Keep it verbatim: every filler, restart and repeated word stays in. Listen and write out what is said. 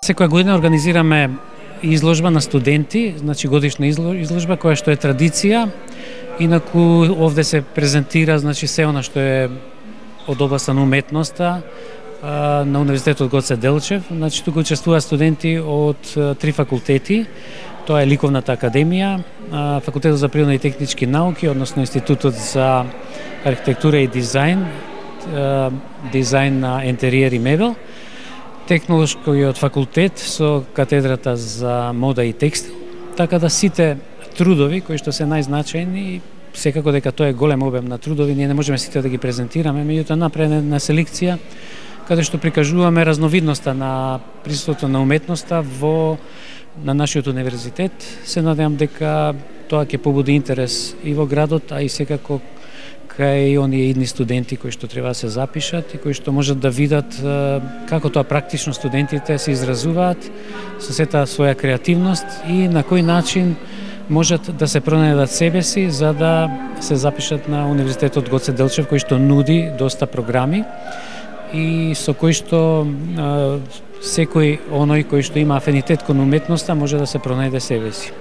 Секоја година организираме изложба на студенти, значи годишна изложба која што е традиција, инаку овде се презентира значи се она што е од областа на уметноста на Универзитетот Гоце Делчев. Значи тука учествуваат студенти од три факултети. Тоа е Ликовната академија, Факултетот за природни и технички науки, односно Институтот за архитектура и дизајн, дизајн на интериер и мебел, Технолошкиот факултет со катедрата за мода и текстил. Така да сите трудови кои што се најзначајни, секако дека тоа е голем обем на трудови, ние не можеме сите да ги презентираме, меѓутоа направена селекција каде што прикажуваме разновидноста на присуството на уметноста во на нашиот универзитет. Се надевам дека тоа ќе побуди интерес и во градот, а и секако кај оние идни студенти кои што треба да се запишат и кои што можат да видат како тоа практично студентите се изразуваат со сета своја креативност и на кој начин можат да се пронајдат себе си за да се запишат на Универзитетот Гоце Делчев, кој што нуди доста програми и со кој што секој оној кој што има афинитет кон уметноста може да се пронајде себе си.